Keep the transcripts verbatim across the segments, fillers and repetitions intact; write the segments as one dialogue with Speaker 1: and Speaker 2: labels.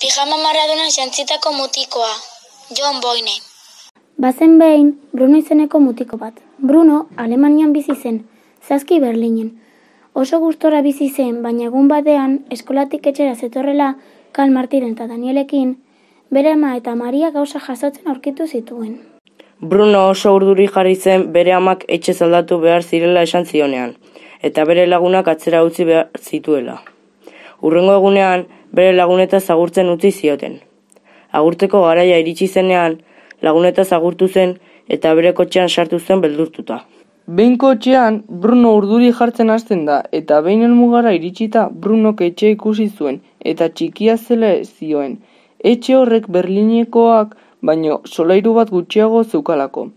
Speaker 1: Pijama Maradona jantzitako mutikoa, John Boyne.
Speaker 2: Bazen behin, Bruno izeneko mutiko bat. Bruno, Alemanian bizi zen, zazki Berlinen. Oso gustora bizi zen, baina egun batean, eskolatik etxera zetorrela, Karl Martiren eta Danielekin, bere ama eta Maria gauza jasotzen aurkitu zituen.
Speaker 3: Bruno oso urduri jarri zen bere amak etxe aldatu behar zirela esan zionean, eta bere lagunak atzera utzi behar zituela. Hurrengo egunean, bere laguneta agurtzen utzi zioten. Agurteko garaia iritsi zenean, laguneta agurtu zen eta bere kotxean sartu zen beldurtuta.
Speaker 4: Behin kotxean, Bruno urduri jartzen hasten da, eta behin helmugara iritsita Brunok etxe ikusi zuen, eta txikia zela zioen. Etxe horrek Berlinekoak, baino solairu bat gutxiago zeukalako.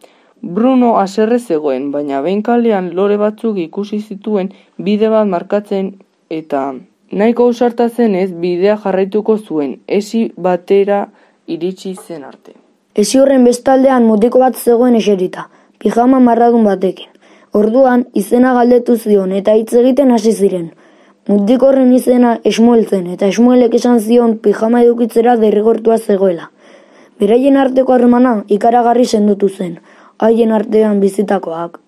Speaker 4: Bruno haserre zegoen, baina behin kalean lore batzuk ikusi zituen bide bat markatzen, eta nahiko ausarta zenez bidea jarraituko zuen, esi batera iritsi zen arte.
Speaker 5: Esi horren bestaldean mutiko bat zegoen eserita, pijama marradun batekin. Orduan izena galdetu zion eta hitz egiten hasi ziren. Mutiko horren izena Esmuel zen eta Esmuelek esan zion pijama edukitzera derrigortua zegoela. Beraien arteko harremana ikaragarri sendotu zen, haien artean bizitakoak.